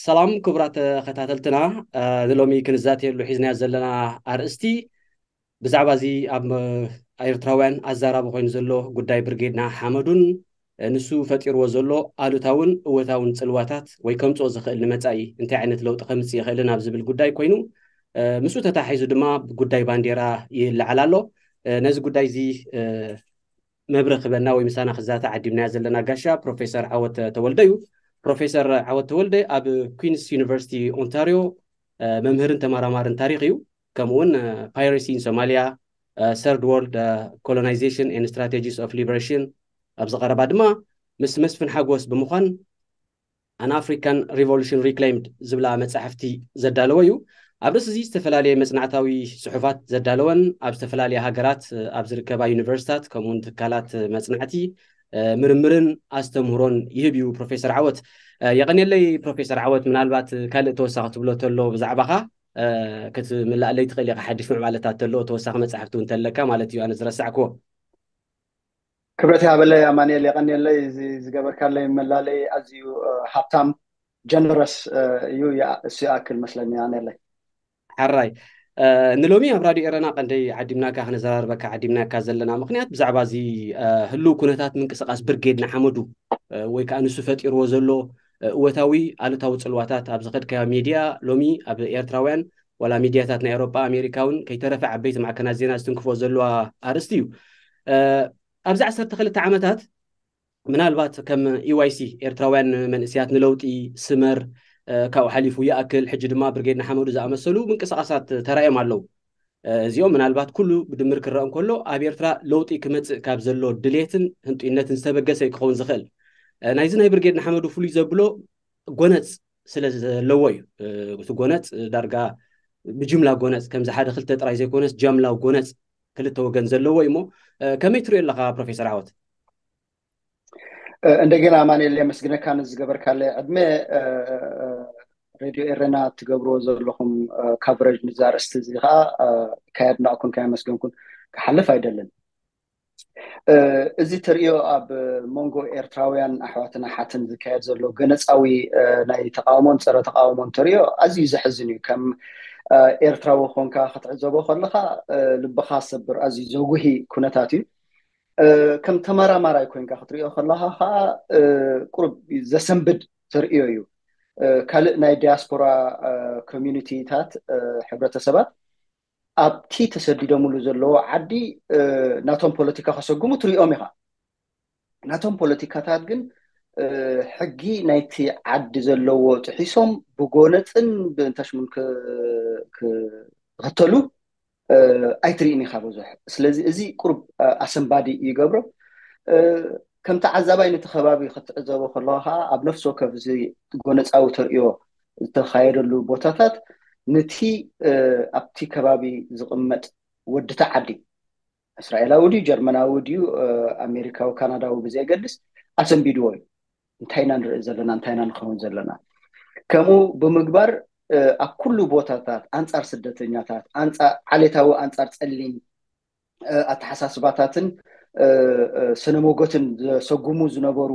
ሰላም ክቡራት ተኸታተልትና፣ ንሎሚ ክንዛተየሉ ሒዝናዮ ዘለና ኣርእስቲ ብዛዕባ እዚ ኣብ ኤርትራውያን ኣዛራቢ ኮይኑ ዘሎ ጉዳይ ብርጌድና ሓመዱን ንሱ ፈጢርዎ ዘሎ ኣሉታውን እወታውን ጽልዋታት ወይ ከምጽኦ ዝኽእል ንመጻኢ እንታይ ዓይነት ለውጢ ከምጽእ ይኽእልን ኣብ ዝብል ጉዳይ ኮይኑ፣ ምስኡ ተታሒዙ ድማ ጉዳይ ባንዴራ ይለዓል ኣሎ። ነዚ ጉዳይ እዚ መብርህ ክበና ወይ ምሳና ክዛተ ዓዲምናያ ዘለና ጋሻ ፕሮፌሰር ዓወት ተወልደ እዩ። ፕሮፌሰር ዓወት ተወልደ ኣብ ኩንስ ዩኒቨርሲቲ ኦንታሪዮ መምህርን ተመራማርን ታሪኽ እዩ። ከምኡውን ፓይረሲ ኢን ሶማሊያ፣ ሰርድ ወርልድ ኮሎናይዜሽን ኤንድ ስትራቴጂስ ኦፍ ሊበሬሽን ኣብዚ ቀረባ ድማ ምስ መስፍን ሓጎስ ብምዃን ኣን ኣፍሪካን ሪቮሉሽን ሪክሌምድ ዝብላ መጻሕፍቲ ዘዳለወ እዩ። ኣብ ርእሲ እዚ ዝተፈላለየ መጽናዕታዊ ጽሑፋት ዘዳለወን ኣብ ዝተፈላለየ ሃገራት ኣብ ዝርከባ ዩኒቨርሲታት ከምኡውን ትካላት መጽናዕቲ ምርምርን ኣስተምህሮን ይህብ እዩ ፕሮፌሰር ዓወት። የቐንየለይ ፕሮፌሰር ዓወት፣ ምናልባት ካልእ ተወሳኺ ትብሎ ተሎ ብዛዕባኻ ክትምልኣለይ ትኽእል ኢኻ፣ ሓድሽ ምዕባለታት ተሎ ተወሳኺ መጻሕፍቲ እውን ተለካ ማለት እዩ፣ ኣነ ዝረሳዕክዎ። ክብረት ይሃበለይ ኣማንኤል፣ የቐንየለይ እዚ ዝገበርካለይ መላለይ ኣዝዩ ሃብታም ጀነረስ እዩ። እሱ ይኣክል መስለኒ ኣነለይ። ሓራይ ንሎሚ ኣብ ራድዮ ኤረና ቀንደይ ዓዲምናካ ክነዘራርበካ ዓዲምናካ ዘለና ምክንያት ብዛዕባ እዚ ህልው ኩነታት ምንቅስቃስ ብርጌድ ንሓመዱ ወይ ከዓ ንሱ ፈጢርዎ ዘሎ እወታዊ ኣሉታዊ ጽልዋታት ኣብ ዝኸድካዮ ሚድያ ሎሚ ኣብ ኤርትራውያን ዋላ ሚድያታት ናይ ኤውሮጳ ኣሜሪካ እውን ከይተረፈ ዓበይቲ ማዕከናት ዜና ዝትንክፎ ዘለዋ ኣርእስቲ እዩ። ኣብዚ ዓሰርተ ክልተ ዓመታት ምናልባት ከም ኢዋይሲ ኤርትራውያን መንእስያት ንለውጢ፣ ስመር፣ ካብኡ ሓሊፉ ይኣክል ሕጂ ድማ ብርጌድ ንሓመዱ ዝኣመሰሉ ምንቅስቃሳት ተራእዮም ኣለዉ። እዚኦም ምናልባት ኩሉ ብድምር ክረአ እንከሎ ኣብ ኤርትራ ለውጢ ክመፅእ ካብ ዘሎ ድሌትን ህንጡይነትን ዝተበገሰ እዩ ክኸውን ዝኽእል። ናይዚ ናይ ብርጌድ ንሓመዱ ፍሉይ ዘብሎ ጎነፅ ስለ ዘለዎ እዩ። እቲ ጎነፅ ዳርጋ ብጅምላ ጎነፅ ከምዚ ሓደ ክልተ ጥራይ ዘይኮነስ ጃምላዊ ጎነፅ ክልተ ወገን ዘለዎ እዩ እሞ ከመይ ትሪኦ ኣለካ ፕሮፌሰር ዓወት? እንደገና ኣማንኤል የመስግነካ ንዝገበርካለ ዕድመ። ሬድዮ ኤረና ትገብርዎ ዘለኹም ካቨሬጅ ንዛ ኣርእስቲ እዚ ከዓ ከየድነቕኩን ከየመስገንኩን ክሓልፍ ኣይደልን። እዚ ትርእዮ ኣብ መንጎ ኤርትራውያን ኣሕዋትን ኣሓትን ዝካየድ ዘሎ ገነፃዊ ናይ ተቃውሞን ፀረ ተቃውሞን ትርእዮ ኣዝዩ ዘሕዝን እዩ። ከም ኤርትራዊ ኮንካ ክትዕዘቦ ከለካ ልብካ ሰብር ኣዝዩ ዘጉሂ ኩነታት እዩ። ከም ተመራማራይ ኮይንካ ክትሪኦ ከለካ ከዓ ቁሩብ ዘሰንብድ ተርእዮ እዩ። ካልእ ናይ ዲያስፖራ ኮሚኒቲታት፣ ሕብረተሰባት ኣብቲ ተሰዲዶምሉ ዘለዎ ዓዲ ናቶም ፖለቲካ ከሰጉሙ ትሪኦም ኢኻ። ናቶም ፖለቲካታት ግን ሕጊ ናይቲ ዓዲ ዘለዎ ጥሒሶም ብጎነፅን ብእንታሽሙን ክኽተሉ ኣይትርእን ኢኻ ብዙሕ። ስለዚ እዚ ቁሩብ ኣሰንባዲ ይገብሮ። ከም ተዓዛባይ ነቲ ከባቢ ክትዕዘቦ ከለኻ ከዓ ኣብ ነፍሲ ወከፍ እዚ ጎነፃዊ ተርእዮ ዝተኻየደሉ ቦታታት ነቲ ኣብቲ ከባቢ ዝቕመጥ ወድቲ ዓዲ እስራኤላዊ ድዩ ጀርመናዊ ድዩ ኣሜሪካዊ ካናዳዊ ብዘየገድስ ኣሰንቢድዎ እዩ። እንታይ ኢና ንርኢ ዘለና እንታይ ኢና ንኸውን ዘለና? ከምኡ ብምግባር ኣብ ኩሉ ቦታታት ኣንፃር ስደተኛታት ዓሌታዊ ኣንፃር ፀሊም ኣተሓሳስባታትን ስነሞጎትን ዘሰጉሙ ዝነበሩ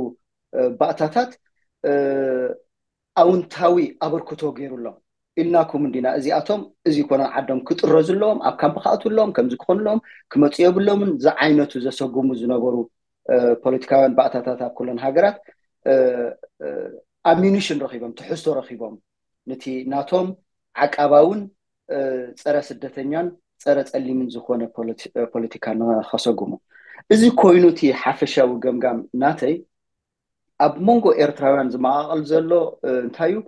ባእታታት ኣውንታዊ ኣበርክቶ ገይሩሎም ኢልናኩም እንዲና። እዚኣቶም እዚ ኮነ ዓዶም ክጥረዙ ኣለዎም፣ ኣብ ካምፕ ክኣትዉ ኣለዎም፣ ከምዚ ክኾኑ ኣለዎም፣ ክመፁ የብሎምን ዝዓይነቱ ዘሰጉሙ ዝነበሩ ፖለቲካውያን ባእታታት ኣብ ኩለን ሃገራት ኣሚኒሽን ረኪቦም ትሕዝቶ ረኪቦም ነቲ ናቶም ዓቃባውን ፀረ ስደተኛን ፀረ ፀሊምን ዝኾነ ፖለቲካ ንኸሰጉሙ። እዚ ኮይኑ እቲ ሓፈሻዊ ገምጋም ናተይ ኣብ መንጎ ኤርትራውያን ዝመቓቐል ዘሎ እንታይ እዩ?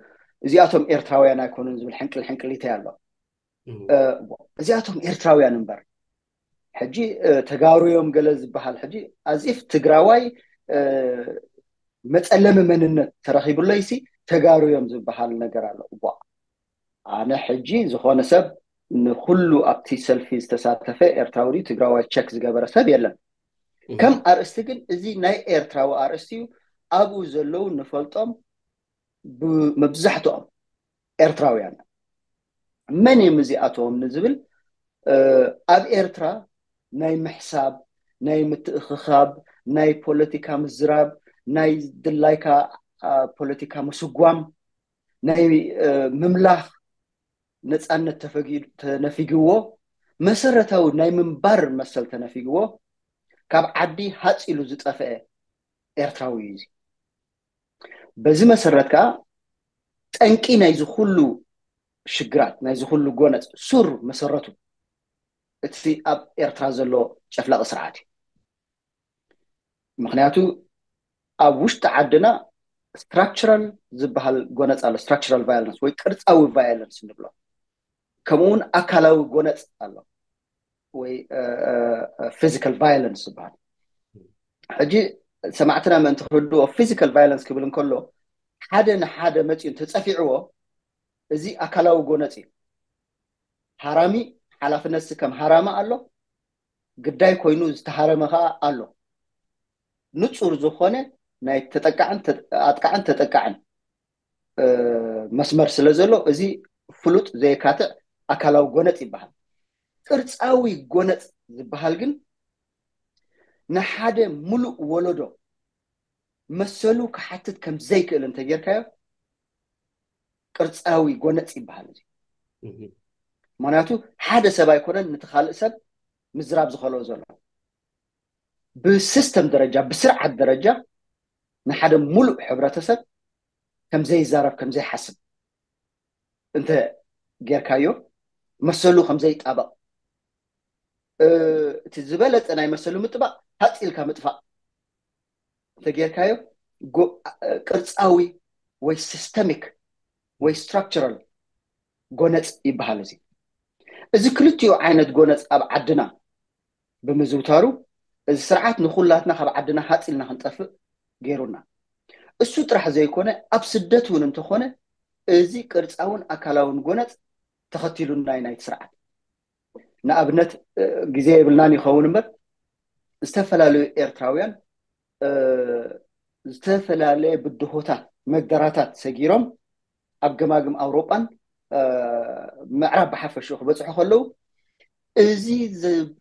እዚኣቶም ኤርትራውያን ኣይኮኑን ዝብል ሕንቅል ሕንቅሊተይ ኣሎ። እዚኣቶም ኤርትራውያን እምበር ሕጂ ተጋሩ እዮም ገለ ዝበሃል ሕጂ ኣዚፍ ትግራዋይ መፀለሚ መንነት ተረኺቡለይሲ ተጋሩ እዮም ዝበሃል ነገር ኣሎ። እዋ ኣነ ሕጂ ዝኾነ ሰብ ንኩሉ ኣብቲ ሰልፊ ዝተሳተፈ ኤርትራዊ ድዩ ትግራዋይ ቸክ ዝገበረ ሰብ የለን። ከም ኣርእስቲ ግን እዚ ናይ ኤርትራዊ ኣርእስቲ እዩ። ኣብኡ ዘለዉ ንፈልጦም መብዛሕትኦም ኤርትራውያን መን እዮም እዚኣቶም ንዝብል ኣብ ኤርትራ ናይ ምሕሳብ ናይ ምትእኽኻብ ናይ ፖለቲካ ምዝራብ ናይ ድላይካ ፖለቲካ ምስጓም ናይ ምምላኽ ነፃነት ተነፊግዎ፣ መሰረታዊ ናይ ምንባር መሰል ተነፊግዎ፣ ካብ ዓዲ ሃፅ ኢሉ ዝጠፍአ ኤርትራዊ እዩ። በዚ መሰረት ከዓ ጠንቂ ናይዚ ኩሉ ሽግራት፣ ናይዚ ኩሉ ጎነፅ ሱር መሰረቱ እቲ ኣብ ኤርትራ ዘሎ ጨፍላቂ ስርዓት እዩ። ምክንያቱ ኣብ ውሽጢ ዓድና ስትራክቸራል ዝበሃል ጎነፅ ኣሎ፣ ስትራክቸራል ቫዮለንስ ወይ ቅርፃዊ ቫዮለንስ ንብሎ፣ ከምኡውን ኣካላዊ ጎነፅ ኣሎ ወይ ፊዚካል ቫዮለንስ ዝበሃል። ሕጂ ሰማዕትና ምእንቲ ክርድኦ፣ ፊዚካል ቫዮለንስ ክብል እንከሎ ሓደ ንሓደ መፂኡ እንተፀፊዕዎ፣ እዚ ኣካላዊ ጎነፅ እዩ። ሃራሚ ሓላፍነት ከም ሃራሚ ኣሎ፣ ግዳይ ኮይኑ ዝተሃረመ ከዓ ኣሎ። ንፁር ዝኾነ ናይ ተጠቃዕን ኣጥቃዕን ተጠቃዕን መስመር ስለ ዘሎ፣ እዚ ፍሉጥ ዘየካትዕ ኣካላዊ ጎነፅ ይበሃል። ቅርፃዊ ጎነፅ ዝበሃል ግን ንሓደ ሙሉእ ወለዶ መሰሉ ክሓትት ከም ዘይክእል እንተጌርካዮ ቅርፃዊ ጎነፅ ይበሃል። እዚ ምክንያቱ ሓደ ሰብ ኣይኮነን ነቲ ካልእ ሰብ ምዝራብ ዝኸልኦ ዘሎ። ብሲስተም ደረጃ፣ ብስርዓት ደረጃ ንሓደ ሙሉእ ሕብረተሰብ ከም ዘይዛረብ፣ ከም ዘይሓስብ እንተ ጌርካዮ፣ መሰሉ ከም ዘይጣበቕ፣ እቲ ዝበለፀ ናይ መሰሉ ምጥባቕ ሃፅ ኢልካ ምጥፋእ እንተጌርካዮ፣ ቅርፃዊ ወይ ሲስተሚክ ወይ ስትራክቸራል ጎነፅ ይበሃል። እዚ እዚ ክልቲኡ ዓይነት ጎነፅ ኣብ ዓድና ብምዝውታሩ፣ እዚ ስርዓት ንኩላትና ካብ ዓድና ሃፅ ኢልና ክንጠፍእ ገይሩና። እሱ ጥራሕ ዘይኮነ፣ ኣብ ስደት እውን እንተኾነ እዚ ቅርፃውን ኣካላውን ጎነፅ ተኸቲሉና እዩ ናይቲ ስርዓት። ንኣብነት ግዜ የብልናን ይኸውን እምበር፣ ዝተፈላለዩ ኤርትራውያን ዝተፈላለየ ብድሆታት፣ መግደራታት ሰጊሮም ኣብ ገማግም ኣውሮጳን ምዕራብ ብሓፈሽኡ ክበፅሑ ከለዉ፣ እዚ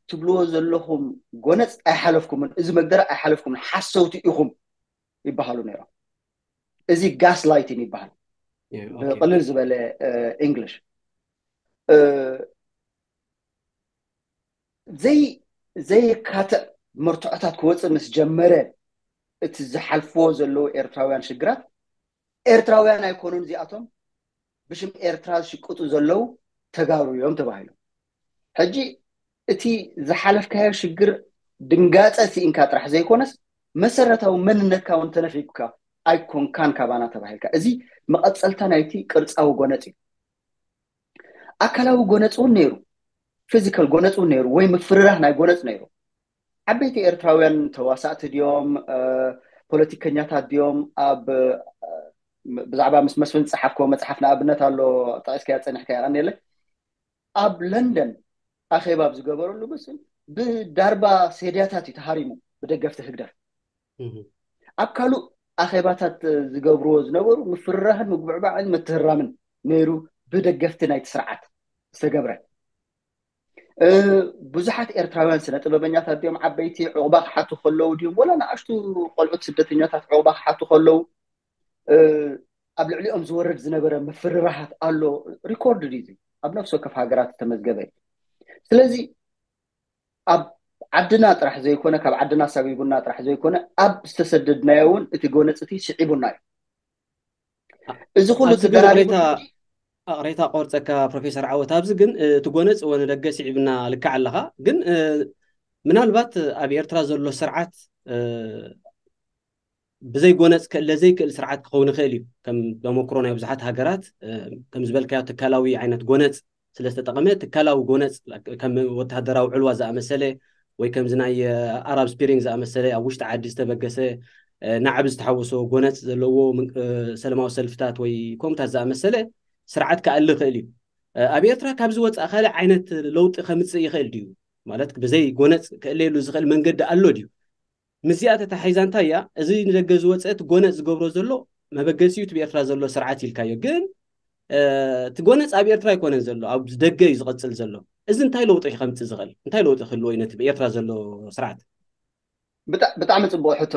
ትብልዎ ዘለኹም ጎነፅ ኣይሓለፍኩምን፣ እዚ መግደራ ኣይሓለፍኩምን፣ ሓሰውቲ ኢኹም ይበሃሉ ነይሮም። እዚ ጋስ ላይቲን ይበሃል ብቅልል ዝበለ እንግሊሽ። ዘይ ዘየካትዕ መርትዖታት ክወፅእ ምስ ጀመረ፣ እቲ ዝሓልፍዎ ዘለዉ ኤርትራውያን ሽግራት፣ ኤርትራውያን ኣይኮኑን እዚኣቶም፣ ብሽም ኤርትራ ዝሽቅጡ ዘለዉ ተጋሩ እዮም ተባሂሎም። ሕጂ እቲ ዝሓለፍካዮ ሽግር ድንጋፀ ስኢንካ ጥራሕ ዘይኮነስ፣ መሰረታዊ መንነትካ እውን ተነፊግካ፣ ኣይኮንካን ካባና ተባሂልካ። እዚ መቐፀልታ ናይቲ ቅርፃዊ ጎነፅ እዩ። ኣካላዊ ጎነፅ እውን ነይሩ፣ ፊዚካል ጎነፅ እውን ነይሩ፣ ወይ ምፍርራህ ናይ ጎነፅ ነይሩ። ዓበይቲ ኤርትራውያን ተዋሳእቲ ድዮም፣ ፖለቲከኛታት ድዮም? ኣብ ብዛዕባ ምስ መስፍን ዝፀሓፍክዎ መፅሓፍ ንኣብነት ኣሎ፣ ጠቂስካዮ ፀኒሕካ፣ የቐንየለይ። ኣብ ለንደን ኣኼባ ኣብ ዝገበረሉ መስፍን ብዳርባ ሴድያታት እዩ ተሃሪሙ ብደገፍቲ ህግደፍ። ኣብ ካልእ ኣኼባታት ዝገብርዎ ዝነበሩ ምፍርራህን ምጉብዕባዕን ምትህራምን ነይሩ፣ ብደገፍቲ ናይቲ ስርዓት ዝተገብረ። ብዙሓት ኤርትራውያን ስነ ጥበበኛታት ድዮም ዓበይቲ ዕቑባ ክሓቱ ከለዉ ድዮም፣ ወላ ንኣሽቱ ቆልዑት ስደተኛታት ዕቑባ ክሓቱ ከለዉ ኣብ ልዕሊኦም ዝወርድ ዝነበረ ምፍርራሃት ኣሎ። ሪኮርድ ድዩ? ኣብ ነፍሲ ወከፍ ሃገራት ዝተመዝገበ እዩ። ስለዚ ኣብ ዓድና ጥራሕ ዘይኮነ፣ ካብ ዓድና ሳቢቡና ጥራሕ ዘይኮነ፣ ኣብ ዝተሰደድናዮ እውን እቲ ጎነፅቲ ስዒቡና እዩ። እዚ ኩሉ ተደራሪቡ ሬታ ቆርፀካ ፕሮፌሰር ዓወት፣ ኣብዚ ግን እቲ ጎነፅ ወ ንደገ ስዒብና ልክዕ ኣለኻ። ግን ምናልባት ኣብ ኤርትራ ዘሎ ስርዓት ብዘይ ጎነፅ ክእለ ዘይክእል ስርዓት ክኸውን ይኽእል እዩ። ከም ተመክሮ ናይ ብዙሓት ሃገራት ከም ዝበልካዮ ትካላዊ ዓይነት ጎነፅ ስለዝተጠቐመ፣ ትካላዊ ጎነፅ ከም ወተሃደራዊ ዕልዋ ዝኣመሰለ ወይ ከምዚ ናይ ኣራብ ስፕሪንግ ዝኣመሰለ ኣብ ውሽጢ ዓዲ ዝተበገሰ ናዕቢ ዝተሓወሶ ጎነፅ ዘለዎ ሰለማዊ ሰልፍታት ወይ ኮምታት ዝኣመሰለ ስርዓት ክኣሊ ይኽእል እዩ። ኣብ ኤርትራ ካብዚ ወፃኢ ካልእ ዓይነት ለውጢ ከምፅእ ይኽእል ድዩ? ማለት ብዘይ ጎነፅ ክእለየሉ ዝኽእል መንገዲ ኣሎ ድዩ? ምስዚኣ ተታሒዛ እንታይ እያ? እዚ ንደገ ዝወፀ እቲ ጎነፅ ዝገብሮ ዘሎ መበገሲኡ እቲ ብኤርትራ ዘሎ ስርዓት ኢልካዮ። ግን እቲ ጎነፅ ኣብ ኤርትራ ኣይኮነን ዘሎ፣ ኣብ ደገ እዩ ዝቐፅል ዘሎ። እዚ እንታይ ለውጢ ከምፅእ ዝኽእል? እንታይ ለውጢ ክህልዎ እዩ ነቲ ብኤርትራ ዘሎ ስርዓት? ብጣዕሚ ፅቡቅ ሕቶ።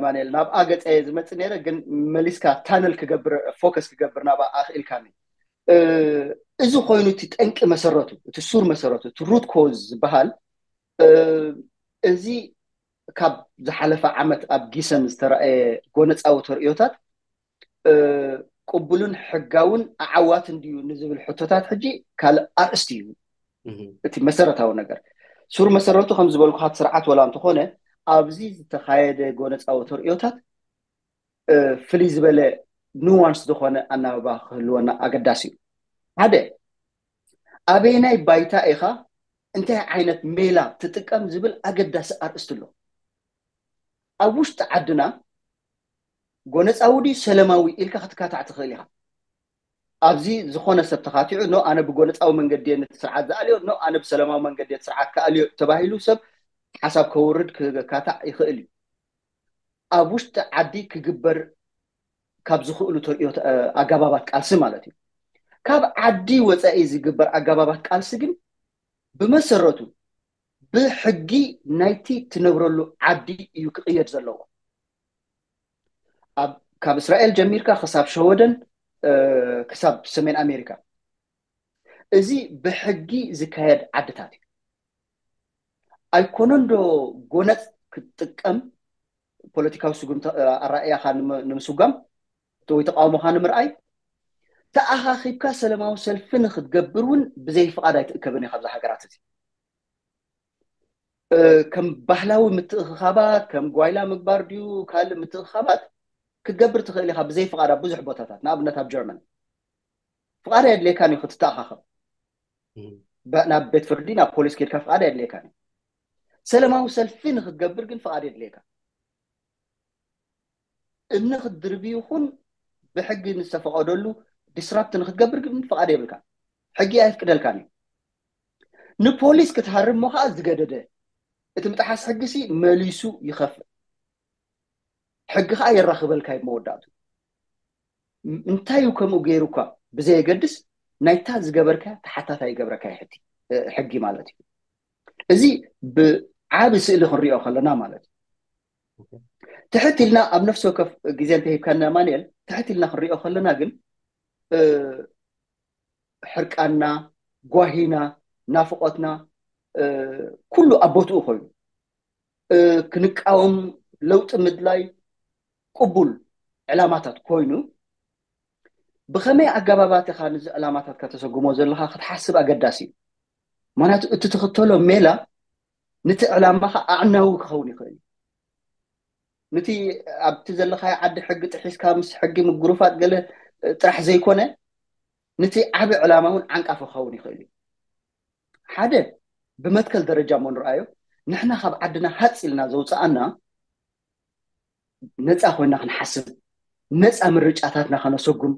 ማንኤል፣ ናብ ኣገፀ ዝመፅእ ነይረ፣ ግን መሊስካ ታነል ክገብር፣ ፎከስ ክገብር ናብ ኣኽኢልካኒ። እዚ ኮይኑ እቲ ጠንቂ መሰረቱ፣ እቲ ሱር መሰረቱ፣ እቲ ሩት ኮዝ ዝበሃል፣ እዚ ካብ ዝሓለፈ ዓመት ኣብ ጊሰን ዝተረኣየ ጎነፃዊ ተርእዮታት ቅቡልን ሕጋውን ኣዓዋትን ድዩ ንዝብል ሕቶታት ሕጂ ካልእ ኣርእስቲ እዩ። እቲ መሰረታዊ ነገር፣ ሱር መሰረቱ ከም ዝበልኩካ፣ እቲ ስርዓት ወላ እንተኾነ፣ ኣብዚ ዝተኻየደ ጎነፃዊ ተርእዮታት ፍልይ ዝበለ ኑዋንስ ዝኾነ ኣናባባ ክህልወና ኣገዳሲ እዩ። ሓደ፣ ኣበየናይ ባይታ ኢኻ፣ እንታይ ዓይነት ሜላ ትጥቀም ዝብል ኣገዳሲ ኣርእስቲ ኣሎ። ኣብ ውሽጢ ዓድና ጎነፃዊ ድዩ ሰለማዊ ኢልካ ክትካታዕ ትኽእል ኢኻ። ኣብዚ ዝኾነ ሰብ ተኻቲዑ፣ ኖ፣ ኣነ ብጎነፃዊ መንገዲ እየ ነቲ ስርዓት ዝኣልዮ፣ ኖ፣ ኣነ ብሰለማዊ መንገዲ እየ እቲ ስርዓት ክኣልዮ ተባሂሉ ሰብ ሓሳብ ከውርድ ክካታዕ ይኽእል እዩ። ኣብ ውሽጢ ዓዲ ክግበር ካብ ዝኽእሉ ተርእዮ ኣጋባባት ቃልሲ ማለት እዩ። ካብ ዓዲ ወፃኢ ዝግበር ኣጋባባት ቃልሲ ግን ብመሰረቱ ብሕጊ ናይቲ ትነብረሉ ዓዲ እዩ ክቕየድ ዘለዎ። ካብ እስራኤል ጀሚርካ ክሳብ ሸወደን፣ ክሳብ ሰሜን ኣሜሪካ፣ እዚ ብሕጊ ዝካየድ ዓድታት እዩ። ኣይኮነን ዶ ጎነፅ ክትጥቀም፣ ፖለቲካዊ ስጉምቲ ኣራእያኻ ንምስጓም ወይ ተቃውሞኻ ንምርኣይ፣ ተኣኻኺብካ ሰለማዊ ሰልፊ ንክትገብር እውን ብዘይ ፍቓድ ኣይትእከብን ኢኻ። ኣብዚ ሃገራት እዚ ከም ባህላዊ ምትእኽኻባት፣ ከም ጓይላ ምግባር ድዩ ካልእ ምትእኽኻባት ክትገብር ትኽእል ኢኻ ብዘይ ፍቓድ ኣብ ብዙሕ ቦታታት፣ ንኣብነት ኣብ ጀርመን ፍቓድ ኣየድልየካን እዩ ክትተኣኻኸብ። ናብ ቤት ፍርዲ፣ ናብ ፖሊስ ከድካ ፍቓድ ኣየድልየካን እዩ። ሰለማዊ ሰልፊ ንክትገብር ግን ፍቓድ የድልየካ። እምኒ ክትድርቢ ይኹን ብሕጊ ንዝተፈቐደሉ ዲስራፕት ንክትገብር ግን ፍቓድ የብልካ። ሕጊ ኣየፍቅደልካን እዩ። ንፖሊስ ክትሃርሞ ከዓ ዝገደደ፣ እቲ ምጥሓስ ሕጊ ሲ መሊሱ ይኸፍእ። ሕጊ ከዓ የራኽበልካ እዩ መወዳእቱ። እንታይ እዩ ከምኡ ገይሩ እኳ ብዘየገድስ፣ ናይታ ዝገበርካ ተሓታታይ ይገብረካ እዩ ሕጊ ማለት እዩ። እዚ ብዓቢ ስእሊ ክንሪኦ ከለና ማለት እዩ። ትሕት ኢልና ኣብ ነፍሲ ወከፍ ግዜ እንተሂብካና ማንኤል፣ ትሕት ኢልና ክንሪኦ ከለና ግን ሕርቃና፣ ጓሂና፣ ናፍቆትና ኩሉ ኣብ ቦትኡ ኮይኑ፣ ክንቃወም ለውጢ ምድላይ ቅቡል ዕላማታት ኮይኑ፣ ብኸመይ ኣገባባት ኢኻ ነዚ ዕላማታት ከተሰጉሞ ዘለኻ ክትሓስብ ኣገዳሲ እዩ። ምክንያቱ እቲ ትኽተሎ ሜላ ነቲ ዕላማኻ ኣዕናዊ ክኸውን ይኽእል እዩ። ነቲ ኣብቲ ዘለኻዮ ዓዲ ሕጊ ጥሒስካ ምስ ሕጊ ምጉርፋጥ ገለ ጥራሕ ዘይኮነ፣ ነቲ ዓቢ ዕላማ እውን ዓንቃፊ ክኸውን ይኽእል እዩ። ሓደ፣ ብመትከል ደረጃ እሞ ንርኣዮ፣ ንሕና ካብ ዓድና ሃፅ ኢልና ዘውፅኣና ነፃ ኮይና ክንሓስብ፣ ነፃ ምርጫታትና ከነሰጉም፣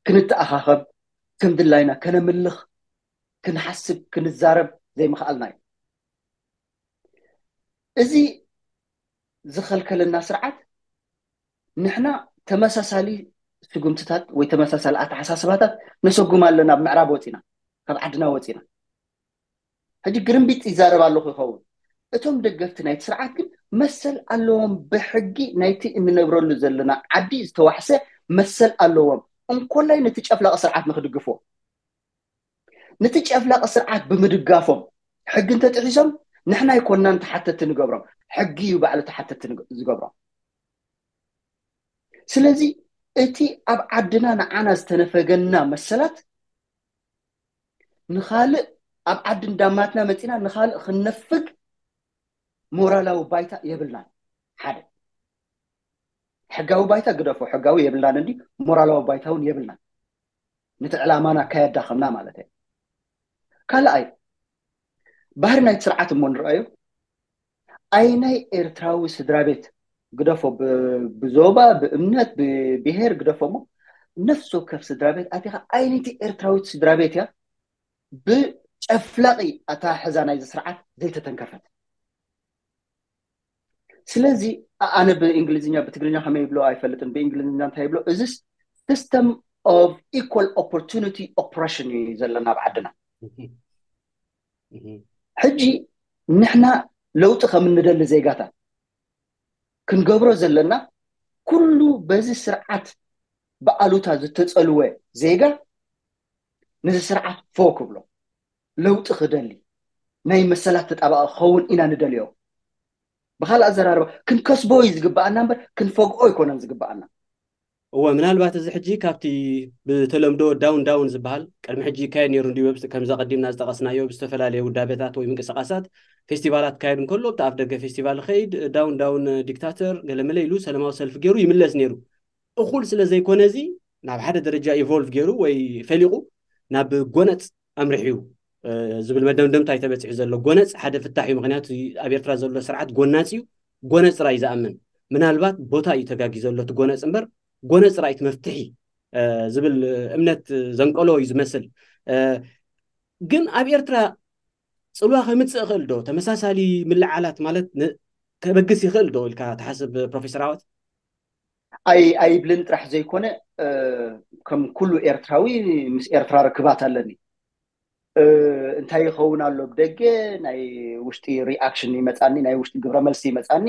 ክንተኣኻኸብ፣ ከም ድላይና ከነምልኽ፣ ክንሓስብ፣ ክንዛረብ ዘይምኽኣልና እዩ። እዚ ዝኸልከለና ስርዓት፣ ንሕና ተመሳሳሊ ስጉምትታት ወይ ተመሳሳሊ ኣተሓሳስባታት ነሰጉም ኣለና። ኣብ ምዕራብ ወፂና፣ ካብ ዓድና ወፂና፣ ሕጂ ግርምቢጥ ይዛረብ ኣለኹ ይኸውን። እቶም ደገፍቲ ናይቲ ስርዓት ግን መሰል ኣለዎም፣ ብሕጊ ናይቲ እንነብረሉ ዘለና ዓዲ ዝተዋሕሰ መሰል ኣለዎም። እንኮላይ ነቲ ጨፍላቂ ስርዓት ንክድግፍዎ፣ ነቲ ጨፍላቂ ስርዓት ብምድጋፎም ሕጊ እንተጥሒሶም ንሕና ኣይኮንናን ተሓተቲ ንገብሮም፣ ሕጊ እዩ ባዕሉ ተሓተቲ ዝገብሮም። ስለዚ እቲ ኣብ ዓድና ንዓና ዝተነፈገና መሰላት ንኻልእ ኣብ ዓዲ እንዳማትና መፂና ንኻልእ ክንነፍግ ሞራላዊ ባይታ የብልናን። ሓደ፣ ሕጋዊ ባይታ ግደፎ፣ ሕጋዊ የብልናን እንዲ፣ ሞራላዊ ባይታ እውን የብልናን። ነቲ ዕላማና ከየዳኸምና ማለት እዩ። ካልኣይ፣ ባህሪ ናይቲ ስርዓት እሞ ንርኣዮ። ኣይናይ ኤርትራዊ ስድራ ቤት ግደፎ፣ ብዞባ፣ ብእምነት፣ ብብሄር ግደፎ እሞ፣ ነፍሲ ወከፍ ስድራ ቤት ኣቲኻ፣ ኣይነይቲ ኤርትራዊት ስድራ ቤት እያ ብጨፍላቂ ኣተሓሕዛ ናይዚ ስርዓት ዘይተተንከፈት። ስለዚ ኣነ ብእንግሊዝኛ፣ ብትግርኛ ከመይ ይብሎ ኣይፈልጥን፣ ብእንግሊዝኛ እንታይ ይብሎ፣ እዚ system of equal opportunity oppression እዩ ዘለና ኣብ ዓድና። ሕጂ ንሕና ለውጢ ከም እንደሊ ዜጋታት፣ ክንገብሮ ዘለና ኩሉ በዚ ስርዓት ብኣሉታ ዝተጸልወ ዜጋ ነዚ ስርዓት ፎ ክብሎ፣ ለውጢ ክደሊ፣ ናይ መሰላት ተጣባቂ ክኸውን ኢና ንደልዮ። ብኻልእ ኣዘራርባ ክንከስቦ እዩ ዝግብኣና እምበር ክንፈግኦ ኣይኮነን ዝግብኣና። እወ፣ ምናልባት እዚ ሕጂ ካብቲ ብተለምዶ ዳውን ዳውን ዝበሃል ቅድሚ ሕጂ ይካየድ ነይሩ እንድዩ። ብስ-፣ ከምዛ ቀዲምና ዝጠቐስናዮ ብዝተፈላለየ ውዳቤታት ወይ ምንቅስቃሳት ፌስቲቫላት ክካየድ እንከሎ፣ ኣብቲ ኣፍ ደገ ፌስቲቫል ይኸይድ፣ ዳውን ዳውን ዲክታተር ገለመለ ኢሉ ሰላማዊ ሰልፊ ገይሩ ይምለስ ነይሩ። እኹል ስለ ዘይኮነ፣ እዚ ናብ ሓደ ደረጃ ኢቮልቭ ገይሩ ወይ ፈሊቑ ናብ ጎነጽ ኣምሪሑ እዩ፣ እ፣ ዝብል መደምደምታ እዩ ተበጺሑ ዘሎ። ጎነጽ ሓደ ፍታሕ እዩ። ምኽንያቱ ኣብ ኤርትራ ዘሎ ስርዓት ጎናጽ እዩ። ጎነጽ ጥራይ እዩ ዝኣምን። ምናልባት ቦታ እዩ ተጋጊ ዘሎ እቲ ጎነጽ እምበር፣ ጎነጽ ጥራይ እቲ መፍትሒ፣ እ፣ ዝብል እምነት ዘንቀሎ እዩ ዝመስል። እ፣ ግን ኣብ ኤርትራ ጽልዋ ከምጽእ ይኽእል ዶ? ተመሳሳሊ ምልዓላት ማለት ን-፣ ከበግስ ይኽእል ዶ ኢልካ ትሓስብ ፕሮፌሰር ዓወት? ኣይ-፣ ኣይብልን ጥራሕ ዘይኮነ፣ እ፣ ከም ኩሉ ኤርትራዊ ምስ ኤርትራ ርክባት ኣለኒ። እ፣ እንታይ ይኸውን ኣሎ ብደገ፣ ናይ ውሽጢ ሪኣክሽን ይመጻኒ፣ ናይ ውሽጢ ግብረ መልሲ ይመጻኒ።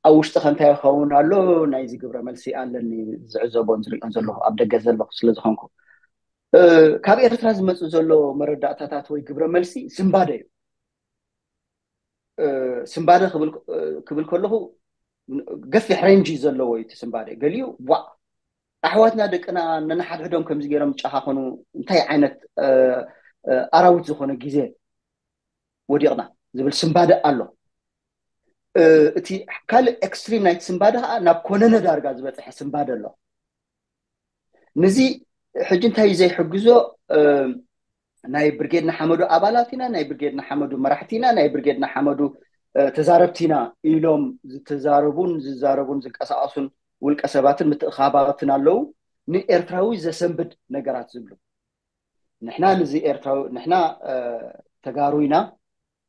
ኣብ ውሽጢ ከ እንታይ ይኸውን ኣሎ፣ ናይዚ ግብረ መልሲ ኣለኒ፣ ዝዕዘቦን ዝሪኦን ዘለኹ ኣብ ደገ ዘለኹ ስለ ዝኾንኩ። እ፣ ካብ ኤርትራ ዝመጽእ ዘሎ መረዳእታታት ወይ ግብረ መልሲ ስንባደ እዩ። እ፣ ስንባደ ክብል፣ እ፣ ክብል ከለኹ ገፊሕ ሬንጅ እዩ ዘለዎ እዩ እቲ ስንባደ። ገሊኡ ዋእ፣ ኣሕዋትና ደቅና ነንሓድሕዶም ከምዚ ገይሮም ጨኻኸኑ፣ እንታይ ዓይነት፣ እ፣ እ፣ ኣራዊት ዝኾነ ግዜ ወዲቕና ዝብል ስንባደ ኣሎ። እ፣ እቲ ካልእ ኤክስትሪም ናይቲ ስንባደ ከዓ ናብ ኮነነ ዳርጋ ዝበፅሐ ስንባደ ኣሎ። ነዚ ሕጂ እንታይ እዩ ዘይሕግዞ? እ፣ ናይ ብርጌድ ንሓመዱ ኣባላት ኢና፣ ናይ ብርጌድ ንሓመዱ መራሕቲ ኢና፣ ናይ ብርጌድ ንሓመዱ፣ እ፣ ተዛረብቲ ኢና ኢሎም ዝተዛረቡን ዝዛረቡን ዝንቀሳቐሱን ውልቀ ሰባትን ምትእኻባትን ኣለዉ። ንኤርትራዊ ዘሰንብድ ነገራት ዝብሉ። ንሕና ንዚ ኤርትራዊ፣ ንሕና፣ እ፣ ተጋሩ ኢና፣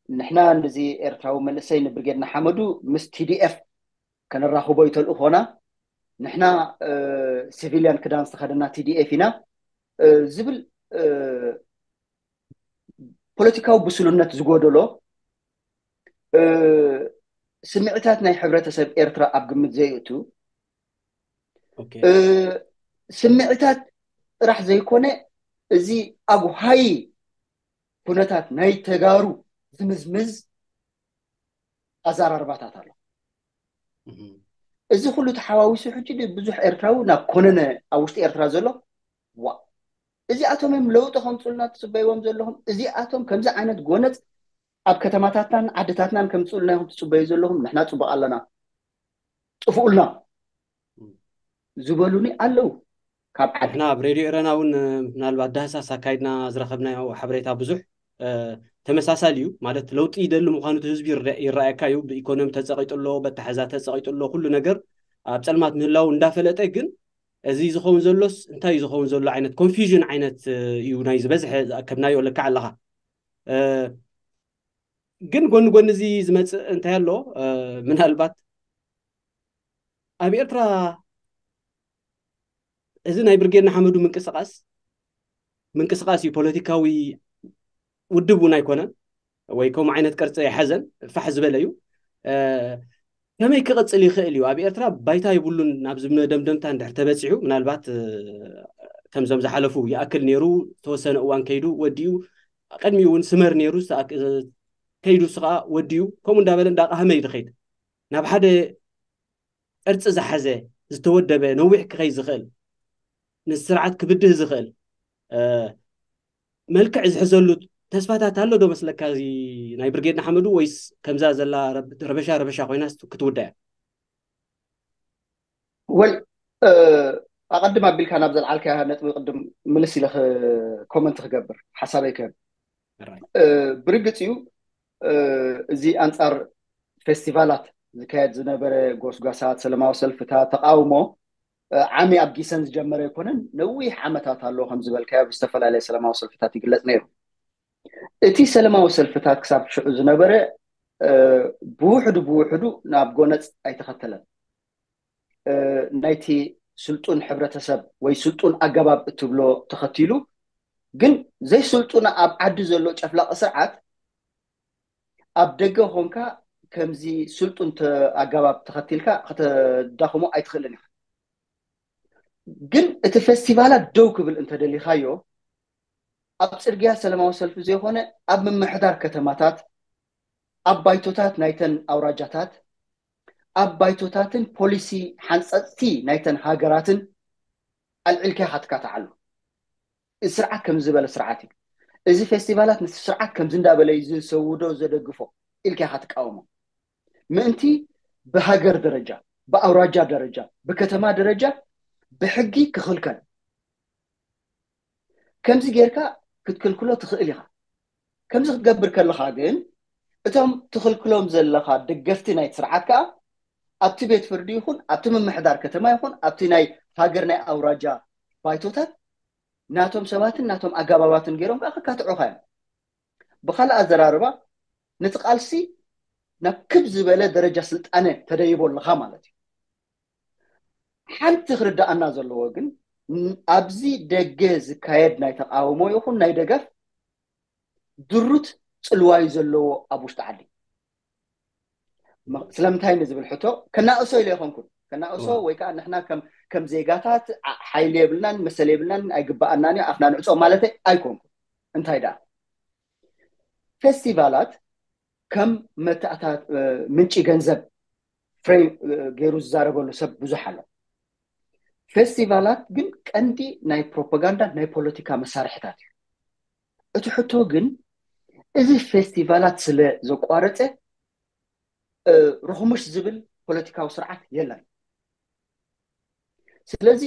ንሕና ንዚ ኤርትራዊ መንእሰይ ንብርጌድ ንሓመዱ ምስ ቲ ዲ ኤፍ ከነራኽቦ እዩ ተልእኾና። ንሕና፣ እ፣ ሲቪልያን ክዳን ዝተኸደና ቲ ዲ ኤፍ ኢና፣ እ፣ ዝብል፣ እ፣ ፖለቲካዊ ብስሉነት ዝጎደሎ፣ እ፣ ስምዒታት ናይ ሕብረተሰብ ኤርትራ ኣብ ግምት ዘየእቱ፣ ኦኬ። እ፣ ስምዒታት ጥራሕ ዘይኮነ፣ እዚ ኣብ ሃይ ኩነታት ናይ ተጋሩ ዝምዝምዝ ኣዘራርባታት ኣሎ። እህ። እዚ ኩሉ ተሓዋዊሱ ሕጂ ብዙሕ ኤርትራዊ ናብ ኮነነ ኣብ ውሽጢ ኤርትራ ዘሎ፣ ዋ፣ እዚኣቶም እዮም ለውጢ ከምፅኡልና ትፅበይዎም ዘለኹም? እዚኣቶም ከምዚ ዓይነት ጎነፅ ኣብ ከተማታትናን ዓድታትናን ከምፅኡልና ኢኹም ትፅበዩ ዘለኹም? ንሕና ፅቡቕ ኣለና፣ ጥፍኡልና ዝበሉኒ ኣለዉ። ካብ ዓዲ ንሕና ኣብ ሬድዮ ኤረና እውን፣ እ፣ ምናልባት ዳህሳስ ኣካይድና ዝረኸብናዮ ሓበሬታ ብዙሕ፣ እ፣ ተመሳሳሊ እዩ። ማለት ለውጢ ይደሊ ምዃኑ እቲ ህዝቢ ይረ-፣ ይረኣየካ እዩ። ብኢኮኖሚ ተጸቒጡ ኣሎ፣ በተሓዛ ተጸቒጡ ኣሎ፣ ኩሉ ነገር ኣብ ጸልማት ምህላው እንዳፈለጠ ግን እዚ ዝኸውን ዘሎስ እንታይ እዩ ዝኸውን ዘሎ ዓይነት ኮንፊውዥን ዓይነት፣ እ፣ እዩ ናይ ዝበዝሐ ዝኣከብናዮ ልክዕ ኣለኻ። እ፣ ግን ጎኒ ጎኒ እዚ ዝመጽእ እንታይ ኣሎ፣ እ፣ ምናልባት ኣብ ኤርትራ እዚ ናይ ብርጌድ ንሓመዱ ምንቅስቃስ፣ ምንቅስቃስ እዩ፣ ፖለቲካዊ ውድብ እውን ኣይኮነን፣ ወይ ከምኡ ዓይነት ቅርጺ ኣይሓዘን፣ ፋሕ ዝበለ እዩ። እ፣ ከመይ ክቕጽል ይኽእል እዩ? ኣብ ኤርትራ ባይታ የብሉን ናብ ዝመደምደምታ እንድሕር ተበጺሑ፣ ምናልባት፣ እ፣ ከምዞም ዝሓለፉ ይኣክል ነይሩ፣ ዝተወሰነ እዋን ከይዱ ወዲኡ፣ ቅድሚኡ እውን ስመር ነይሩ፣ ዝተኣክ-፣ ከይዱ ንሱ ኸኣ ወዲኡ፣ ከምኡ እንዳበለ እንዳቃሃመ እዩ ዝኸይድ። ናብ ሓደ ቅርጺ ዝሓዘ፣ ዝተወደበ፣ ነዊሕ ክኸይድ ዝኽእል፣ ንስርዓት ክብድህ ዝኽእል፣ እ፣ መልክዕ ዝሕዘሉ ተስፋታት ኣሎ ዶ መስለካ እዚ ናይ ብርጌድ ንሓመዱ፣ ወይስ ከምዛ ዘላ ረብ-፣ ረበሻ ረበሻ ኮይናስ ክትውዳእ እያ? ወል፣ እ፣ ኣቐድም ኣቢልካ ናብ ዘልዓልካያ ነጥቢ ቅድም ምልስ ኢለ ክ-፣ ኮመንት ክገብር ሓሳበይ ክህብ። ራይት። እ፣ ብርግጽ እዩ፣ እ፣ እዚ ኣንጻር ፌስቲቫላት ዝካየድ ዝነበረ ጎስጓሳት፣ ሰላማዊ ሰልፍታት፣ ተቃውሞ፣ እ፣ ዓሚ ኣብ ጊሰን ዝጀመረ ኣይኮነን። ነዊሕ ዓመታት ኣሎ፣ ከም ዝበልካዮ ብዝተፈላለየ ሰላማዊ ሰልፍታት ይግለጽ ነይሩ። እቲ ሰላማዊ ሰልፍታት ክሳብ ሽዑ ዝነበረ፣ እ፣ ብውሕዱ ብውሕዱ ናብ ጎነጽ ኣይተኸተለን። እ፣ ናይቲ ስልጡን ሕብረተሰብ ወይ ስልጡን ኣገባብ እትብሎ ተኸቲሉ፣ ግን ዘይስልጡን ኣብ ዓዲ ዘሎ ጨፍላቂ ስርዓት ኣብ ደገ ኾንካ ከምዚ ስልጡን ተ- ኣገባብ ተኸቲልካ ከተዳኽሞ ኣይትኽእልን ኢኻ። ግን እቲ ፌስቲቫላት ደው ክብል እንተደሊኻዮ፣ ኣብ ጽርግያ ሰላማዊ ሰልፊ ዘይኮነ፣ ኣብ ምምሕዳር ከተማታት፣ ኣብ ባይቶታት ናይተን ኣውራጃታት፣ ኣብ ባይቶታትን ፖሊሲ ሓንጸጽቲ ናይተን ሃገራትን ኣልዒልካ ኢኻ ትካትዓሉ። እዚ ስርዓት ከም ዝበለ ስርዓት እዩ። እዚ ፌስቲቫላት ነቲ ስርዓት ከምዚ እንዳበለ እዩ ዝሰውዶ ዘደግፎ ኢልካ ኢኻ ትቃወሞ። ምእንቲ ብሃገር ደረጃ፣ ብኣውራጃ ደረጃ፣ ብከተማ ደረጃ ብሕጊ ክኽልከል። ከምዚ ጌርካ ክትክልክሎ ትኽእል ኢኻ። ከምዚ ክትገብር ከለኻ ግን እቶም ትኽልክሎም ዘለኻ ደገፍቲ ናይቲ ስርዓት ከኣ ኣብቲ ቤት ፍርዲ ይኹን ኣብቲ ምምሕዳር ከተማ ይኹን ኣብቲ ናይ ሃገር ናይ ኣውራጃ ባይቶታት ናቶም ሰባትን ናቶም ኣገባባትን ገይሮም ከኣ ከካትዑኻ እዮም። ብኻልእ ኣዘራርባ ነቲ ቃልሲ ናብ ክብ ዝበለ ደረጃ ስልጣነ ተደይቦ ኣለኻ ማለት እዩ። ሓንቲ ክርዳኣና ዘለዎ ግን ን- ኣብዚ ደገ ዝካየድ ናይ ተቃውሞ ይኹን ናይ ደገፍ ድሩት ጽልዋዩ ዘለዎ ኣብ ውሽጢ ዓዲ። መ- ስለምንታይ ንዝብል ሕቶ ከናእሶ ኢለ ይኾንኩን ከናእሶ ወይ ከዓ ንሕና ከም ከም ዜጋታት ዓ- ሓይሊ የብልናን መሰል የብልናን ኣይግባኣናን እዩ ኣፍና ንዕጾ ማለት ኣይኮንኩን። እንታይ ደኣ ፌስቲቫላት ከም መተኣታ ምንጪ ገንዘብ ፍሬ ገይሩ ዝዛረበሉ ሰብ ብዙሕ ኣሎ። ፌስቲቫላት ግን ቀንዲ ናይ ፕሮፓጋንዳ ናይ ፖለቲካ መሳርሕታት እዩ። እቲ ሕቶ ግን እዚ ፌስቲቫላት ስለ ዘቋረፀ ርኹምሽ ዝብል ፖለቲካዊ ስርዓት የለን። ስለዚ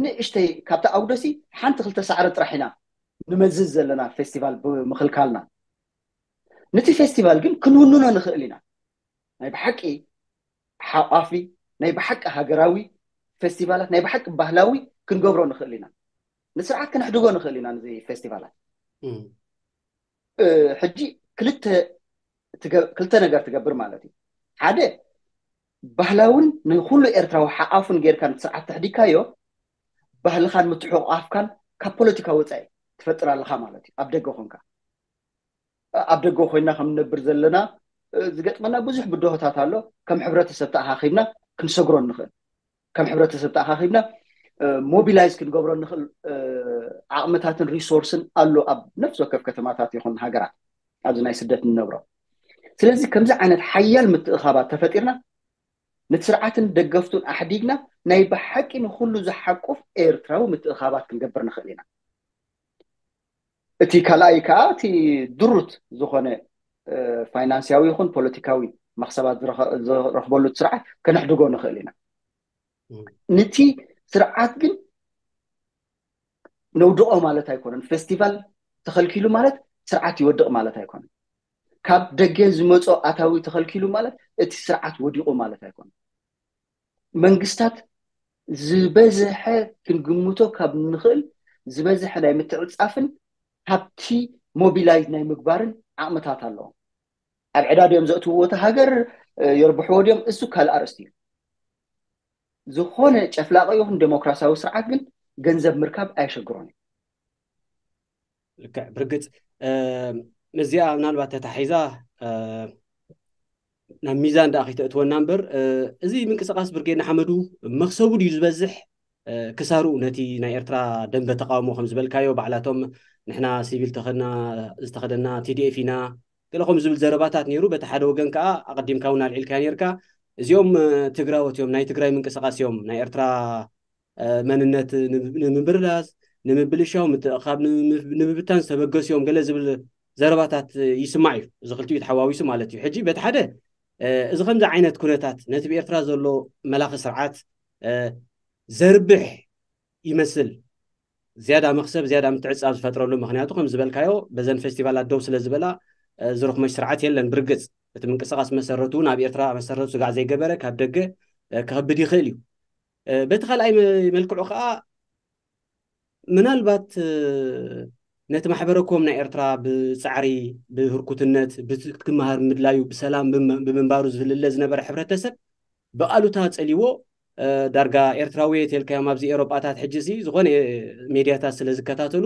ንእሽተይ ካብቲ ኣውደሲ ሓንቲ ክልተ ሳዕሪ ጥራሕ ኢና ንመዝዝ ዘለና ፌስቲቫል ብምኽልካልና። ነቲ ፌስቲቫል ግን ክንውንኖ ንኽእል ኢና። ናይ ብሓቂ ሓቋፊ ናይ ብሓቂ ሃገራዊ ፌስቲቫላት ናይ ብሓቂ ባህላዊ ክንገብሮ ንኽእል ኢና። ንስርዓት ክነሕድጎ ንኽእል ኢና ነዚ ፌስቲቫላት። ሕጂ ክልተ ነገር ትገብር ማለት እዩ። ሓደ ባህላውን ንኩሉ ኤርትራዊ ሓቋፉን ጌርካ ስርዓት ተሕዲግካዮ ባህልኻን ምትሕቋፍካን ካብ ፖለቲካ ወፃኢ ትፈጥር ኣለኻ ማለት እዩ። ኣብ ደገ ኮንካ ኣብ ደገ ኮይና ከም ንነብር ዘለና ዝገጥመና ብዙሕ ብድሆታት ኣሎ። ከም ሕብረተሰብ ተኣኻኺብና ክንሰግሮ ንኽእል፣ ከም ሕብረተሰብ ተኣኻኺብና ሞቢላይዝ ክንገብሮ ንኽእል ዓቕምታትን ሪሶርስን ኣሎ ኣብ ነፍሲ ወከፍ ከተማታት ይኹን ሃገራት ኣብዚ ናይ ስደት ንነብሮ። ስለዚ ከምዚ ዓይነት ሓያል ምትእኻባት ተፈጢርና ነቲ ስርዓትን ደገፍቱን ኣሕዲግና ናይ ብሓቂ ንኹሉ ዝሓቁፍ ኤርትራዊ ምትእኻባት ክንገብር ንኽእል ኢና። እቲ ካልኣይ ከዓ እቲ ድሩት ዝኾነ ፋይናንስያዊ ይኹን ፖለቲካዊ መክሰባት ዝረኸበሉ ስርዓት ከነሕድጎ ንኽእል ኢና። ንቲ ስርዓት ግን ነውድቆ ማለት ኣይኮነን። ፌስቲቫል ተኸልኪሉ ማለት ስርዓት ይወድቕ ማለት ኣይኮነን። ካብ ደገ ዝመጾ ኣታዊ ተኸልኪሉ ማለት እቲ ስርዓት ወዲቑ ማለት ኣይኮነን። መንግስታት ዝበዝሐ ክንግምቶ ካብ ንኽእል ዝበዝሐ ናይ ምትዕጻፍን ሃብቲ ሞቢላይዝ ናይ ምግባርን ዓቕምታት ኣለዎም። ኣብ ዕዳ ድዮም ዘእትውዎ እቲ ሃገር የርብሕዎ ድዮም እሱ ካልእ ኣርእስቲ እዩ። ዝኾነ ጨፍላቂ ይኹን ዴሞክራሲያዊ ስርዓት ግን ገንዘብ ምርካብ ኣየሸግሮን እዩ። ልክዕ ብርግፅ እዚኣ ምናልባት ተታሒዛ ናብ ሚዛን ደኣ ከይተእትወና እምበር እዚ ምንቅስቃስ ብርጌድ ንሓመዱ መክሰቡ ድዩ ዝበዝሕ ክሳሩ ነቲ ናይ ኤርትራ ደንበ ተቃውሞ ከም ዝበልካዮ ባዕላቶም ንሕና ሲቪል ተኸድና ዝተኸደና ቲዲኤፍ ኢና ገለ ከም ዝብል ዘረባታት ነይሩ። በቲ ሓደ ወገን ከዓ ኣቐዲምካ እውን ኣልዒልካ ነርካ እዚኦም ትግራዎት እዮም ናይ ትግራይ ምንቅስቃስ እዮም ናይ ኤርትራ መንነት ንምብርላዝ ንምብልሻው ምትእኻብ ንምብታን ዝተበገሱ እዮም ገለ ዝብል ዘረባታት ይስማዕ እዩ። እዚ ክልቲኡ ተሓዋዊሱ ማለት እዩ። ሕጂ በቲ ሓደ እዚ ከምዚ ዓይነት ኩነታት ነቲ ብኤርትራ ዘሎ መላኺ ስርዓት ዘርብሕ ይመስል ዝያዳ መክሰብ ዝያዳ ምትዕፃብ ዝፈጥረሉ ምክንያቱ ከም ዝበልካዮ በዘን ፌስቲቫላት ደው ስለ ዝበላ ዝረኽመሽ ስርዓት የለን። ብርግፅ እቲ ምንቅስቃስ መሰረቱ እውን ኣብ ኤርትራ መሰረቱ ስጋዕ ዘይገበረ ካብ ደገ ክኸብድ ይኽእል እዩ። በቲ ካልኣይ መልክዑ ከዓ ምናልባት ነቲ ማሕበረኮም ናይ ኤርትራ ብፃዕሪ ብህርኩትነት ብክመሃር ምድላዩ ብሰላም ብምንባሩ ዝፍልለ ዝነበረ ሕብረተሰብ ብኣሉታ ፀሊዎ ዳርጋ ኤርትራዊ የት የልካዮም ኣብዚ ኤሮጳታት ሕጂ ሲ ዝኾነ ሜድያታት ስለ ዝከታተሉ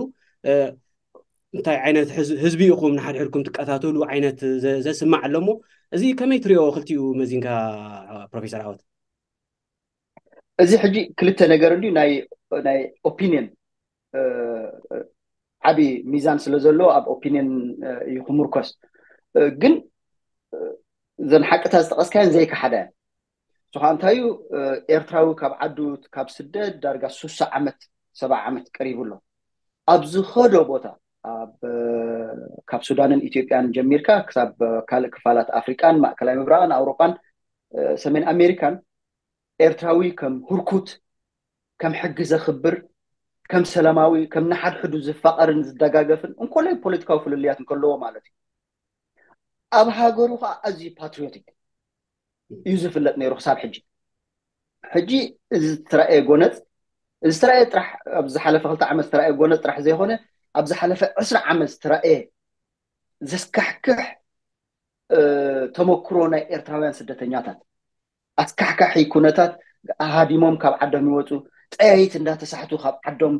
እንታይ ዓይነት ህዝ- ህዝቢ ኢኹም ንሓድሕድኩም ትቀታተሉ ዓይነት ዘ- ዘስማዕ ኣሎ እሞ፣ እዚ ከመይ ትሪኦ ክልቲኡ መዚንካ ፕሮፌሰር ዓወት? እዚ ሕጂ ክልተ ነገር እንድዩ፣ ናይ ናይ ኦፒኒየን ዓቢ ሚዛን ስለ ዘለዎ ኣብ ኦፒኒየን እዩ ክምርኮስ። ግን እዘን ሓቅታት ዝጠቐስካየን ዘይከሓዳ እየን። ንሱ ከዓ እንታይ እዩ? ኤርትራዊ ካብ ዓዱ ካብ ስደት ዳርጋ ሱሳ ዓመት ሰባ ዓመት ቀሪቡ ኣሎ። ኣብ ዝኸዶ ቦታ ኣብ ካብ ሱዳንን ኢትዮጵያን ጀሚርካ ክሳብ ካልእ ክፋላት ኣፍሪቃን ማእከላይ ምብራቕን ኣውሮጳን ሰሜን ኣሜሪካን ኤርትራዊ ከም ህርኩት፣ ከም ሕጊ ዘኽብር፣ ከም ሰላማዊ፣ ከም ንሓድሕዱ ዝፋቐርን ዝደጋገፍን እንኮላይ ፖለቲካዊ ፍልልያት እንከለዎ ማለት እዩ። ኣብ ሃገሩ ከዓ ኣዝዩ ፓትሪዮቲክ እዩ ዝፍለጥ ነይሩ ክሳብ ሕጂ። ሕጂ እዚ ዝተረኣየ ጎነፅ እዚ ዝተረኣየ ጥራሕ ኣብዚ ዝሓለፈ ክልተ ዓመት ዝተረኣየ ጎነፅ ጥራሕ ዘይኮነ ኣብ ዝሓለፈ ዕስራ ዓመት ዝተረኣየ ዘስካሕክሕ ተመክሮ ናይ ኤርትራውያን ስደተኛታት ኣስካሕካሒ ኩነታት ሃዲሞም ካብ ዓዶም ይወፁ፣ ጠያይት እንዳተሳሕቱ ካብ ዓዶም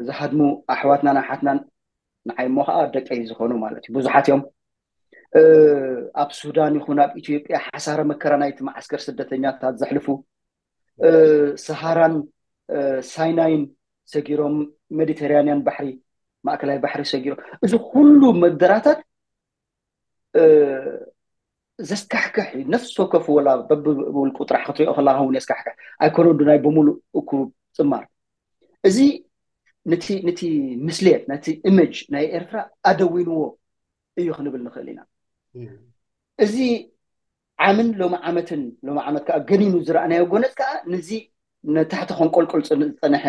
ዝሃድሙ ኣሕዋትናን ኣሓትናን ንዓይ እሞ ከዓ ደቀይ ዝኾኑ ማለት እዩ ብዙሓት እዮም። ኣብ ሱዳን ይኹን ኣብ ኢትዮጵያ ሓሳረ መከራ ናይቲ መዓስከር ስደተኛታት ዘሕልፉ ሰሃራን ሳይናይን ሰጊሮም ሜዲተራንያን ባሕሪ ማእከላይ ባሕሪ ሰጊሮም እዚ ኩሉ መደራታት ዘስካሕክሕ እዩ። ነፍሲ ወከፍ ወላ በብውልቁ ጥራሕ ክትሪኦ ከለካ እውን የስካሕክሕ። ኣይኮነ ዱ ናይ ብምሉእ እኩብ ፅማር እዚ ነቲ ነቲ ምስሌት ነቲ ኢሜጅ ናይ ኤርትራ ኣደዊንዎ እዩ ክንብል ንኽእል ኢና። እዚ ዓምን ሎሚ ዓመትን ሎሚ ዓመት ከዓ ገኒኑ ዝረኣናዮ ጎነፅ ከዓ ነዚ ነታሕቲ ከንቆልቆል ዝፀንሐ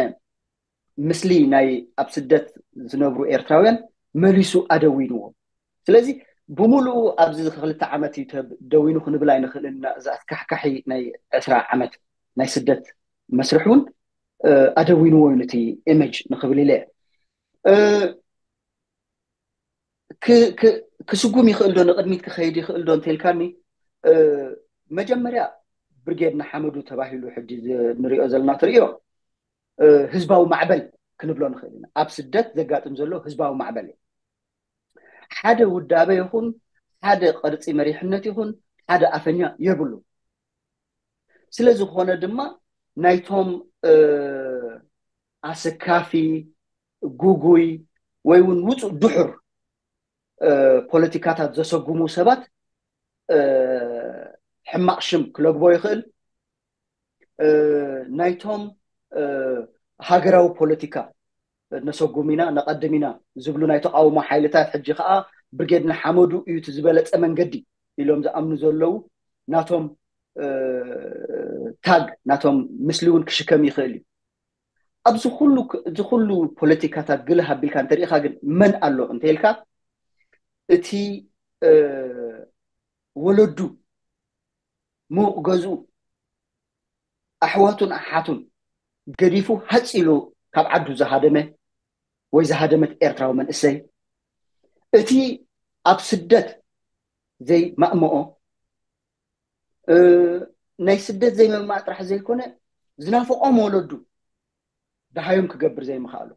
ምስሊ ናይ ኣብ ስደት ዝነብሩ ኤርትራውያን መሊሱ ኣደዊንዎ። ስለዚ ብምሉኡ ኣብዚ ክልተ ዓመት እዩ ደዊኑ ክንብል ኣይንኽእልን። እዚ ኣስካሕካሒ ናይ ዕስራ ዓመት ናይ ስደት መስርሕ እውን ኣደዊንዎ እዩ ነቲ ኢሜጅ ንኽብል ኢለ። ክስጉም ይኽእል ዶ ንቕድሚት ክኸይድ ይኽእል ዶ እንተልካኒ፣ መጀመርያ ብርጌድ ንሓመዱ ተባሂሉ ሕጂ ንሪኦ ዘለና ትሪኦ ህዝባዊ ማዕበል ክንብሎ ንኽእል ኢና። ኣብ ስደት ዘጋጥም ዘሎ ህዝባዊ ማዕበል እዩ። ሓደ ውዳበ ይኹን ሓደ ቅርፂ መሪሕነት ይኹን ሓደ ኣፈኛ የብሉ። ስለ ዝኾነ ድማ ናይቶም ኣሰካፊ፣ ጉጉይ ወይ እውን ውፁእ ድሑር ፖለቲካታት ዘሰጉሙ ሰባት ሕማቕ ሽም ክለግቦ ይኽእል። ናይቶም ሃገራዊ ፖለቲካ ነሰጉም ኢና ነቐድም ኢና ዝብሉ ናይ ተቃውሞ ሓይልታት ሕጂ ከዓ ብርጌድ ንሓመዱ እዩ እቲ ዝበለፀ መንገዲ ኢሎም ዝኣምኑ ዘለዉ ናቶም ታግ ናቶም ምስሊ እውን ክሽከም ይኽእል እዩ። ኣብዚ ኩሉ እዚ ኩሉ ፖለቲካታት ግልህ ኣቢልካ እንተሪኢኻ ግን መን ኣሎ እንተኢልካ እቲ ወለዱ ሙቕ ገዝኡ ኣሕዋቱን ኣሓቱን ገዲፉ ሃፅ ኢሉ ካብ ዓዱ ዝሃደመ ወይ ዝሃደመት ኤርትራዊ መንእሰይ እቲ ኣብ ስደት ዘይማእምኦ ናይ ስደት ዘይምማእ ጥራሕ ዘይኮነ ዝናፍቖም ወለዱ ደሃዮም ክገብር ዘይምኽኣሉ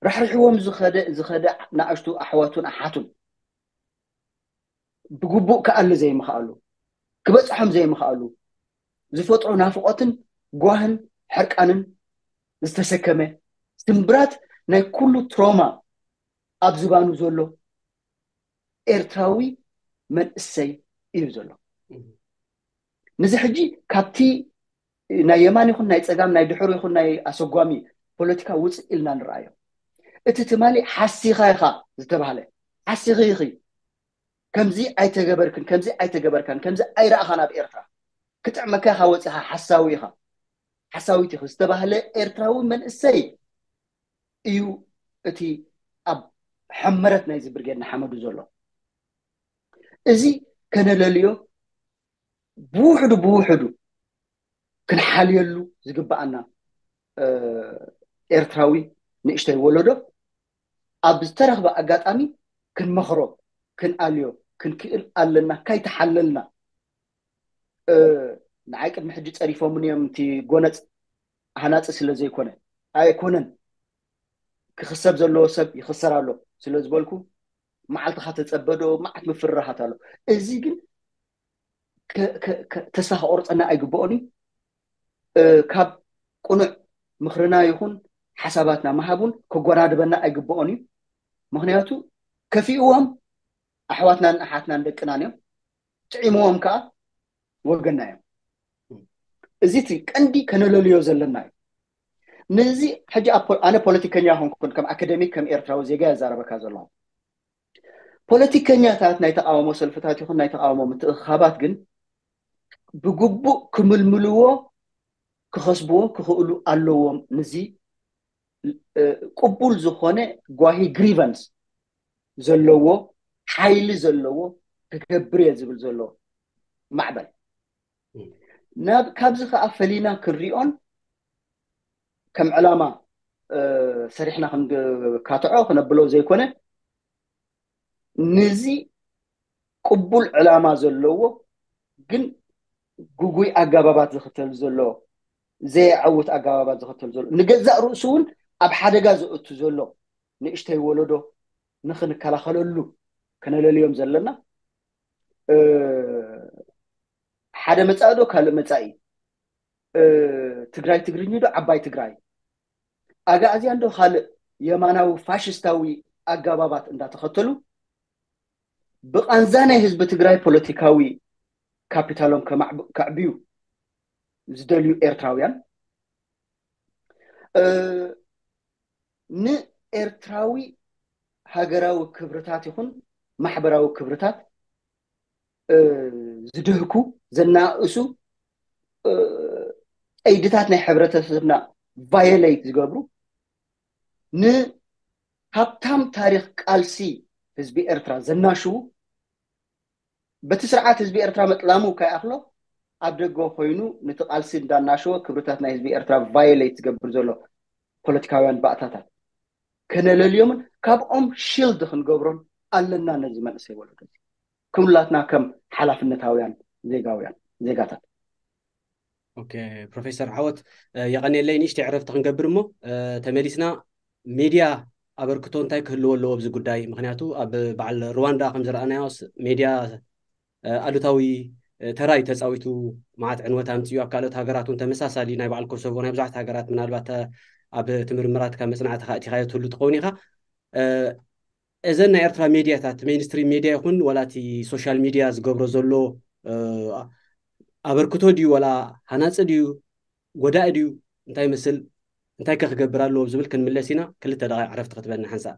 ራሕሪሕዎም ዝኸደ ዝኸደ ንኣሽቱ ኣሕዋቱን ኣሓቱን ብግቡእ ክኣሊ ዘይምኽኣሉ ክበፅሖም ዘይምኽኣሉ ዝፈጥሮ ናፍቖትን ጓህን ሕርቃንን ዝተሰከመ ስምብራት ናይ ኩሉ ትሮማ ኣብ ዝባኑ ዘሎ ኤርትራዊ መንእሰይ እዩ ዘሎ። ንዚ ሕጂ ካብቲ ናይ የማን ይኹን ናይ ፀጋም ናይ ድሕሩ ይኹን ናይ ኣሰጓሚ ፖለቲካ ውፅእ ኢልና ንረኣዮ። እቲ ትማሊ ሓሲኻ ኢኻ ዝተባህለ ሓሲኺ ኢኺ ከምዚ ኣይተገበርክን ከምዚ ኣይተገበርካን ከምዚ ኣይረኣኻን ኣብ ኤርትራ ክጥዕመካ ኢኻ ወፂኻ ሓሳዊ ኢኻ ሓሳዊት ኢኺ ዝተባህለ ኤርትራዊ መንእሰይ እዩ እቲ ኣብ ሕመረት ናይዚ ብርጌድ ንሓመዱ ዘሎ። እዚ ከነለልዮ ብውሕዱ ብውሕዱ ክንሓልየሉ ዝግብኣና ኤርትራዊ ንእሽተይ ወለዶ ኣብ ዝተረኽበ ኣጋጣሚ ክንመኽሮ ክንኣልዮ ክንክእል ኣለና። ካይተሓለልና ንዓይ ቅድሚ ሕጂ ፀሪፎምን እዮም እቲ ጎነፅ ሃናፂ ስለ ዘይኮነ ኣይኮነን ክኽሰብ ዘለዎ ሰብ ይኽሰር ኣሎ ስለ ዝበልኩ፣ መዓልትኻ ተጸበዶ፣ መዓት ምፍርራሃት ኣሎ። እዚ ግን ተስፋ ክቆርጸና ኣይግብኦን እዩ። ካብ ቅኑዕ ምኽርና ይኹን ሓሳባትና ምሃብ እውን ከጎናድበና ኣይግብኦን እዩ። ምኽንያቱ ከፊእዎም ኣሕዋትናን ኣሓትናን ደቅናን እዮም። ጥዒምዎም ከዓ ወገንና እዮም። እዚ እቲ ቀንዲ ከነለልዮ ዘለና እዩ። ነዚ ሕጂ ኣነ ፖለቲከኛ ኾንኩን ከም ኣካደሚክ ከም ኤርትራዊ ዜጋ ያዛረበካ ዘለኹ። ፖለቲከኛታት ናይ ተቃውሞ ሰልፍታት ይኹን ናይ ተቃውሞ ምትእኻባት ግን ብግቡእ ክምልምልዎ ክኸስብዎ ክኽእሉ ኣለዎም። ንዚ ቅቡል ዝኾነ ጓሂ ግሪቨንስ ዘለዎ ሓይሊ ዘለዎ ክገብር እየ ዝብል ዘሎ ማዕበል ናብ ካብዚ ከዓ ፈሊና ክንሪኦን ከም ዕላማ ሰሪሕና ክንካትዖ ክነብሎ ዘይኮነ ንዚ ቅቡል ዕላማ ዘለዎ ግን ግጉይ ኣጋባባት ዝኽተል ዘሎ ዘየዐውት ኣጋባባት ዝኽተል ዘሎ ንገዛእ ርእሱ እውን ኣብ ሓደጋ ዘእቱ ዘሎ ንእሽተይ ወለዶ ንኽንከላኸለሉ ከነለልዮም ዘለና ሓደ መጻኢ ዶ ካልእ መጻኢ ትግራይ ትግርኝ ዶ ዓባይ ትግራይ ኣጋእዝያን ዶ ካልእ የማናዊ ፋሽስታዊ ኣጋባባት እንዳተኸተሉ ብቃንዛ ናይ ህዝቢ ትግራይ ፖለቲካዊ ካፒታሎም ከዕብዩ ዝደልዩ ኤርትራውያን ንኤርትራዊ ሃገራዊ ክብርታት ይኹን ማሕበራዊ ክብርታት ዝድህኩ ዘናእሱ ቀይድታት ናይ ሕብረተሰብና ቫዮሌት ዝገብሩ ንሃብታም ታሪክ ቃልሲ ህዝቢ ኤርትራ ዘናሽዉ በቲ ስርዓት ህዝቢ ኤርትራ መጥላሙ ከይኣኽሎ ኣብ ደገ ኮይኑ ነቲ ቃልሲ እንዳናሸወ ክብርታት ናይ ህዝቢ ኤርትራ ቫዮሌት ዝገብር ዘሎ ፖለቲካውያን ባእታታት ከነለልዮምን ካብኦም ሺልድ ክንገብሮን ኣለና። ነዚ መንእሰይ ወለዶ ኩላትና ከም ሓላፍነታውያን ዜጋውያን ዜጋታት ኦኬ ፕሮፌሰር ዓወት የቐንየለይ። ንእሽተይ ዕረፍቲ ክንገብር እሞ ተመሊስና ሜድያ ኣበርክቶ እንታይ ክህልዎ ኣለዎ ኣብዚ ጉዳይ? ምክንያቱ ኣብ በዓል ሩዋንዳ ከም ዝረኣናዮ ሜድያ ኣሉታዊ ተራ እዩ ተፃዊቱ፣ መዓት ዕንወት ኣምፅኡ፣ ኣብ ካልኦት ሃገራት እውን ተመሳሳሊ ናይ በዓል ኮሶቮ ናይ ብዙሓት ሃገራት ምናልባት ኣብ ትምርምራትካ መፅናዕትካ እቲኻዮ ትህሉ ትኸውን ኢኻ። እዘን ናይ ኤርትራ ሜድያታት ሜንስትሪም ሜድያ ይኹን ወላቲ ሶሻል ሚድያ ዝገብሮ ዘሎ ኣበርክቶ ድዩ ወላ ሃናፂ ድዩ ጎዳኢ ድዩ እንታይ ይመስል እንታይ ከ ክገብር ኣለዎ ዝብል ክንምለስ ኢና። ክልተ ደቂቕ ዕረፍቲ ክትበና ሓንሳእ።